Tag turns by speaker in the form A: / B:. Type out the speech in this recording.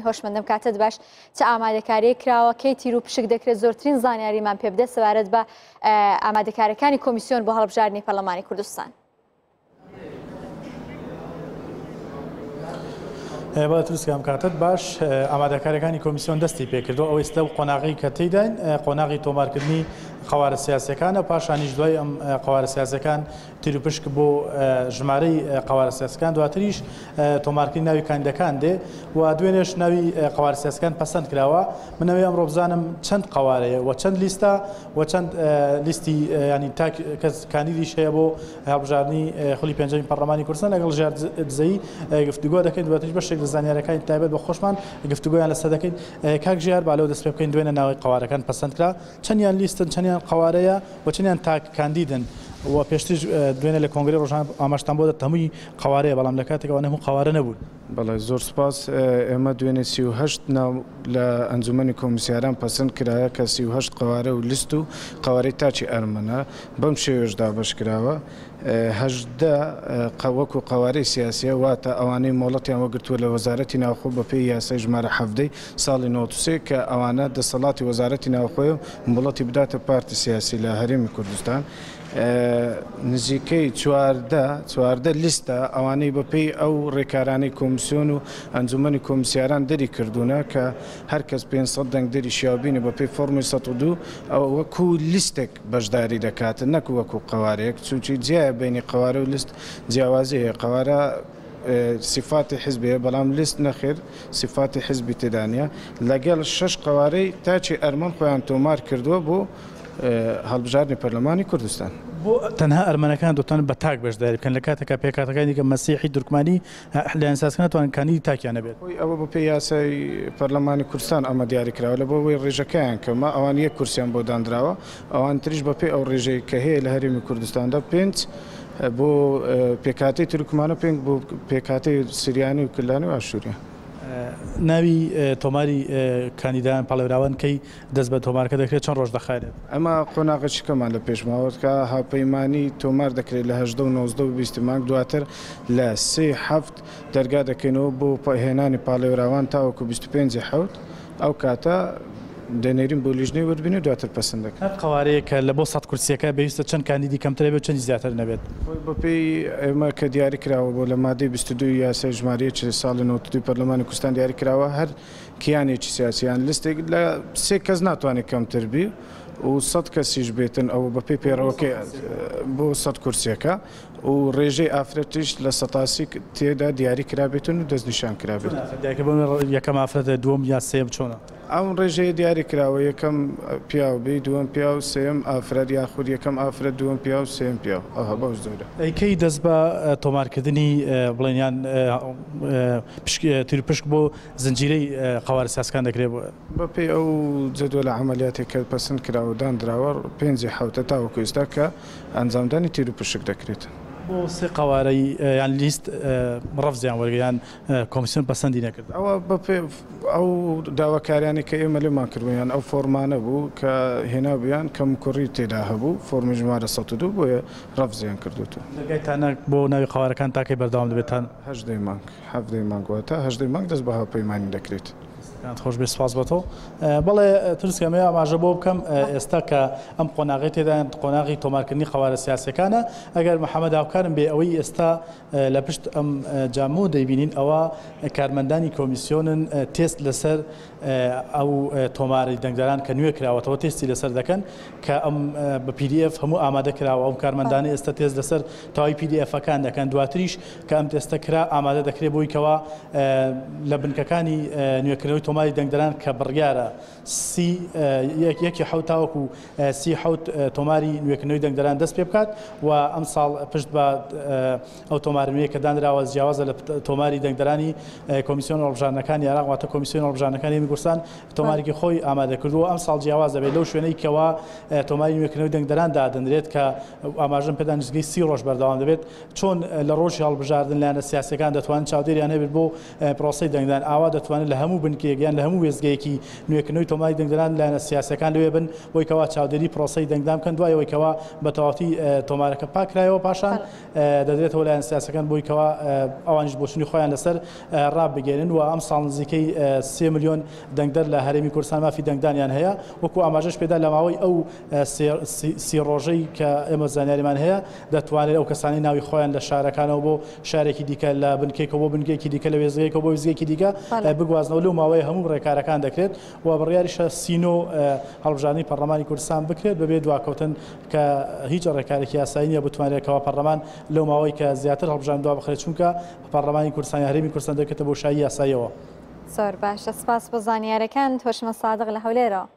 A: هۆشمەندم کاتت باش چ ئامادەکاریەک کراوە کەی تیر و پشک دەکرێت زۆرترین زانیاریمان پێ بدە سەبارەت بە ئامادەکاریەکانی کۆمیسیۆن بۆ هەڵبژاردنی پەرلەمانی کوردستان.
B: بەڵێ تروسکە ئەم کاتەت باش ئامادەکاریەکانی کۆمیسیۆن دەستی پێکردو ئەو ئێستا و قۆناغی کە تێیداین قۆناغی تۆمارکردنی قەوارە سیاسەکانە پاشانیش دوای ئەم قەوارە سیاسەکان تیروپشک بۆ ژمارەی قەوارە سیاسەکان دواتریش تۆمارکردنی ناوی کاندیدەکان دێ و دوێنێش ناوی قەوارە سیاسەکان پەسەند کراوە. من ئەوێ ئەمڕۆ بزانم چەند قەوارەیە و چەند لیستە و چەند لیستی ینی تاک کەس کاندیدیش هەیە بۆ هەڵبژاردنی خولی پێنجەمی پەرلەمانی کوردستان لەگەڵ ژیار دزەیی گفتوگۆ دەکەین دواتریش بەشێک لە زانیارەکانی تایبەت بە خۆشمان گفتوگۆیان لەسەر دەکەین. کاک ژیار با لەوە دەست پێ بکەین دوێنێ ناوی قەوارەکان پەسەند کرا چەندیان لیستن چەندیان قەوارەیە و چەندیان تاک کاندیدن و پێشتریش دوێنێ لە کۆنگرەی ڕۆژانە ئاماژەتان بۆ دەت هەمووی قەوارەیە بەڵام لە کاتێک ئەوانە هەموو قەوارە نەبوون.
C: بەڵێ زۆر سوپاس، ئێمە دوێنێ 38 ناو لە ئەنجومەنی کۆمیسیاران پەسند کرایە کە 38 قەوارە و لیست و قەوارەی تاکی ئەرمەنە بەم شێوەیەش دابەش کراوە. 18 قە وەکو قەوارەی سیاسیە واتە ئەوانەی مۆڵەتیان وەگرتووە لە وەزارەتی ناوخۆ بە پێی یاسای ژمارە 17 ی ساڵی 93 کە ئەوانە دەسەڵاتی وەزارەتی ناوخۆیە و مۆڵەتی بداتە پارتی سیاسی لە هەرێمی کوردستان نزیکەی 14 14 لیستە ئەوانەی بە پێی ئەو ڕێکارانەی کۆمسیۆن و ئەنجومەنی کۆمسیاران دەری کردوونە کە هەر کەس 500 دەنگدەری شیاوبینە بە پێی فۆڕمی 102 ئەوە وەکو لیستێک بەشداری دەکات نەک وەکو قەوارەیەک چونکی جیایە بەینی قەوارە و لیست جیاوازی هەیە قەوارە سیفاتی حزبی هەیە بەڵام لیست نەخێر سیفاتی حزبی تێدا نییە لەگەڵ شەش قەوارەی تاکی ئەرمەن خۆیان تۆمار کردووە بۆ هەڵبژاردنی پەرلەمانی کوردستان.
B: بۆ تەنها ئەرمەنەکان دەتوانن بە تاک بەشداری بکەن لە کاتێکا پێکهاتەکانی دیکە مەسیحی، تورکمانی، لایەن سیاسیەکان ناتوانن کاندیدی تاکیان هەبێت.
C: خۆی ئەوە بە پێی یاسای پەرلەمانی کوردستان ئەمە دیاری کراوە لە بۆ ئەوەی ڕێژەکەیان کەمە ئەوان یەک کورسیان بۆ داندراوە ئەوان تریش بە پێی ئەو ڕێژەی کە هەیە لە هەرێمی کوردستاندا پێنج بۆ پێکهاتەی تورکمان و پێنج بۆ پێکهاتەی سریانی و کلدانی و ئاشوریان.
B: ناوی تۆماری کاندیدان پاڵێوراوان کەی دەست بە تۆمارکە دەکرێت چەند ڕۆژ دەخایەنێت؟
C: ئەمە قۆناغێکی کەمان لە پێش ماوە کە هاوپەیمانی تۆمار دەکرێت لە 18 و 19 و 20 مانگ دواتر لە سێ حەفت دەرگا دەکەینەوە بۆ هێنانی پاڵێوراوان تاوەکو 25 حەوت ئەو کاتە دەنێرین بۆ لیژنەی وردبینی و دواتر پەسند دەکرێت.
B: هەر قەوارەیەک کە لە بۆ 100 کورسییەکە پێویستە چەند کاندیدی کەمتر هەبێت و چەندی زیاتر نەبێت؟
C: خۆی بەپێی ئێمە کە دیاری کراوە بۆ لە مادەی 22 یاسای ژمارە یەکی ساڵی 92 پەرلەمانی کوردستان دیاری کراوە هەر کیانێکی سیاسی یان لیستێک لە سێ کەس ناتوانێت کەمتر بی و سەد کەسیش بێتن ئەوە بەپێی پەیڕەوەکەی بۆ سەد کورسیەکە و ڕێژەی ئافرەتیش لە سەتاسی تێدا دیاری کرابێتن و دەستنیشان کرابێت.
B: دیارکە بۆ یەکەم ئافرەتە دووەم یا سێیەم چۆنە؟
C: ئەم ڕێژەیە دیاری کراوە یەکەم پیاو بی دووەم پیاو سێیەم ئافرەت یاخود یەکەم ئافرەت دووەم پیاو سێیەم پیاو ئەوها بەو جۆرە.
B: ئەی کەی دەست بە تۆمارکردنی بڵێن یان تیروپشک بۆ زنجیرەی قەوارە سیاسەکان دەکرێت.
C: بەپێی ئەو جەدوەلە عەمەلیاتەی کە پەسند کراوە و داندراوە پێنجی حەوتە تاوەکو ئێستا کە ئەنجامدانی تیروپشک دەکرێت.
B: بۆ سێ قەوارەی یان لیست ڕەفزیان وەرگرت یان کۆمیسیۆن پەسەندی نەکرد؟
C: ئەوە بەپێی ئەو داواکاریانەی کە ئێمە لێمان کردبوون یان ئەو فۆرمانە بوو کە هێنابوویان کەموکوڕی تێدا هەبوو فۆرمی ژمارە 102 بۆیە ڕەفزیان کردووەتەوە.
B: دەرگای تانە بۆ ناوی قەوارەکان تا کەی بەردەوام دەبێت؟ تا.
C: هەژدەی مانگ. حەڤدەی مانگ واتە هەژدەی مانگ دەست بە هاوپەیمانی دەکرێت.
B: دەستەکانت خۆش بێت سپاس بۆ تۆ. بەڵێ تروسکە ئەمەوێ ئاماژە بۆ بکەم ئێستا کە ئەم قۆناغەی تێداین قۆناغی تۆمارکردنی قەوارە سیاسیەکانە ئەگەر محەمەد هاوکارم بێ ئەوەی ئێستا لە پشت ئەم جامەوە دەیبینین ئەوە کارمەندانی کۆمیسیۆنن تێست لەسەر ئەو تۆماری دەنگدەران کە نوێ کراوەتەوە تێستی لەسەر دەکەن کە ئەم بە PDF هەموو ئامادە کراوە ئەو کارمەندانە ئێستا تێست لەسەر تەواوی PDF ەکان دەکەن دواتریش کە ئەم تێستە کرا ئامادە دەکرێت بۆی کەوا لە بنکەکانی نوێکردنەوەی تۆماری دەنگدەران کە بڕیارە سی یەکی حەوت تاوەکو سی حەوت تۆماری نوێکردنەوەی دەنگدەران دەست پێ بکات و ئەمساڵ پشت بە ئەو تۆمارە نوێیە کە دانراوە جیاوازە لە تۆماری دەنگدەرانی کۆمیسیۆن هەڵبژاردنەکانی عێراق واتە کۆمیسیۆن هەڵبژاردنەکانی هەرێمی کوردستان تۆمارێکی خۆی ئامادە کردووە ئەمساڵ جیاواز دەبێت لەو شوێنەی کەوا تۆماری نوێکردنەوەی دەنگدەران دادەنرێت کە ئاماژەم پێدا نزیکەی 30 ڕۆژ بەردەوام دەبێت چۆن لە ڕۆژی هەڵبژاردن لایەنە سیاسیەکان دەتوانن چاودێریان هەبێت بۆ پرۆسەی دەنگدان ئاوا دەتوانن لە هەموو بنکەیەک. وێستگەیەک یان لە هەموو وێستگەیەکی نوێکردنەوەی تۆماری دەنگدەران لایەنە سیاسیەکان لەوێ بن بۆی کەوا چاودێری پرۆسەی دەنگدان بکەن دوای ئەوەی کەوا بە تەواوەتی تۆمارەکە پاکرایەوە پاشان دەدرێتەوە لایەن سیاسەکان بۆی کەوا ئەوانیش بۆچونی خۆیان لەسەر ڕابگەێنن و ئەم ساڵ نزیکەی 3 ملیۆن دەنگدەر لە هەرێمی کوردستان مافی دەنگدانیان هەیە وەکو ئاماژەش پێدا لە ماوەی ئەو سی ڕۆژەی کە ئێمە زانیاریمان هەیە دەتوانێت ئەو کەسانی ناوی خۆیان لە شارەکانەوە بۆ شارێکی دیکە لە بنکێکەوە بۆ بنکێکی دیکە لە وێستگەیەکەوە بۆ وێستگەیەکی دیکە بگوازنەوە لەو ماوەیە هەموو ڕێکارەکان دەکرێت و بڕیاریشە سینۆ هەڵبژاردنی پەرلەمانی کوردستان بکرێت بەبێ دواکەوتن کە هیچ ڕێکارێکی یاسایی نییە بتوانرێت کەوا پەرلەمان لەو ماوەی کە زیاتر هەڵبژاردن دوا بخرێت چونکە پەرلەمانی کوردستان یا هەرێمی کوردستان دەکەوێتە بۆشایی یاساییەوە.
A: زۆر باشە سپاس بۆ زانیارەکانت هۆشمەند سادق لە هەولێرەوە.